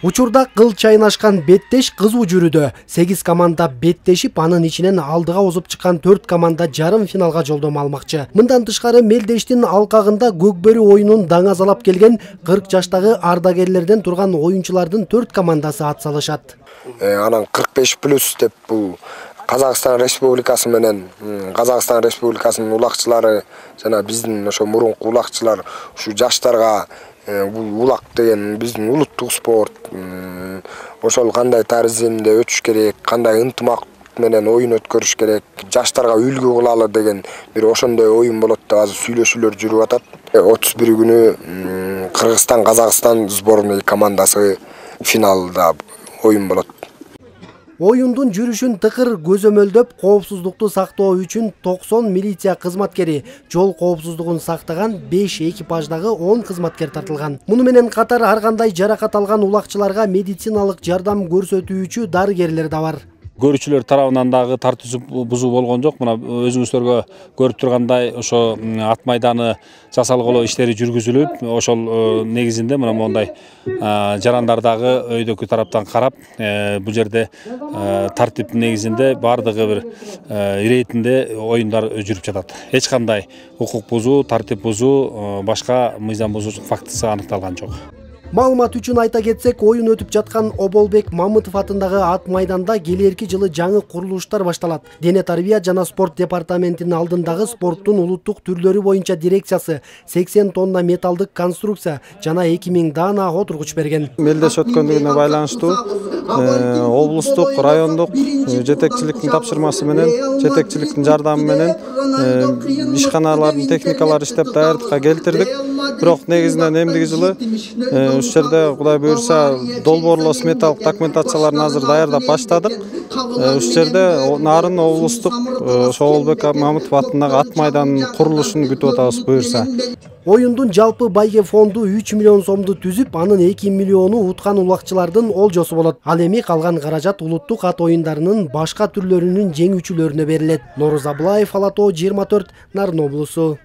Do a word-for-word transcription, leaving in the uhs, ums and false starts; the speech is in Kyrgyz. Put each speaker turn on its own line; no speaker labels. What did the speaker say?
Учурда кыл чайнашкан беттеш кызуу жүрүүдө. сегиз команда беттешип, анын ичинен алдыга озуп чыккан төрт команда жарым финалга жолдомо алмакчы. Мындан тышкары Мелдештин алкагында көкбөрү оюнун даңазалап келген кырк жаштагы ардагерлерден турган оюнчулардын төрт командасы ат салышат.
Анан кырк беш плюс деп бул Казакстан Республикасы менен Казакстан Республикасынын улакчылары жана биздин ошо мурунку улакчылар ушу жаштарга бул улак деген биздин улуттук спорт, ошол кандай тарзимде өтүш керек, кандай ынтымак менен оюн өткөрүш керек, жаштарга үлгү кылалы деген бир ошондой оюн болот деп азыр сүйлөшүүлөр жүрүп атат. отуз бир күнү Кыргызстан Казакстан сборный командасы финалда оюн болот.
Оюндун жүрүшүн тыкыр көзөмөлдөп, коопсуздукту сактоо үчүн токсон милиция кызматкери, жол коопсуздугун сактаган беш экипаждагы он кызматкер тартылган. Муну менен катар ар кандай жаракат алган улакчыларга медициналык жардам көрсөтүүчү дарыгерлер да бар.
Көрүүчүлөр тарабынан дагы тартуу бузуу болгон жок. Мына өзүңүздөргө көрүп тургандай ошо ат майданы жасалгылоо иштери жүргүзүлүп, ошол негизинде мына мондай жарандар дагы өйдөкү тараптан карап, бул жерде тартип негизинде бардыгы бир иретинде оюндар жүрүп жатат. Эч кандай укук бузуу, тартип бузуу, башка мыйзам бузуучулук фактысы аныкталган жок.
Маалымат үчүн айта кетсек, оюн өтүп жаткан Оболбек Мамытов атындагы ат майданда келерки жылы жаңы курулуштар башталат. Дене тарбия жана спорт департаментинин алдындагы спорттун улуттук түрлөрү боюнча дирекциясы сексен тонна металдык конструкция жана эки миң даана отургуч берген.
Мелдеш өткөндүгүнө байланыштуу облустук, райондук жетекчиликтин тапшырмасы менен, жетекчиликтин жардамы менен ишканалардын техникалары иштеп даярдыкка келтирдик. Бирок негизинен эмдиги жылы ушул жерде Кудай буюрса долбоорлоо сметалык документацияларын азыр даярдап баштадык. Ушул жерде нарын облустук ошо Оболбек Мамытов атындагы ат майданынын курулушун күтүп атабыз буюрса.
Оюндун жалпы байге фонду үч миллион сомду түзүп, анын эки миллиону уткан улакчылардын олжосу болот. Ал эми калган каражат улуттук ат оюндарынын башка түрлөрүнүн жеңүүчүлөрүнө берилет. Нооруз Аблаев, Ала тоо жыйырма төрт, Нарын облусу.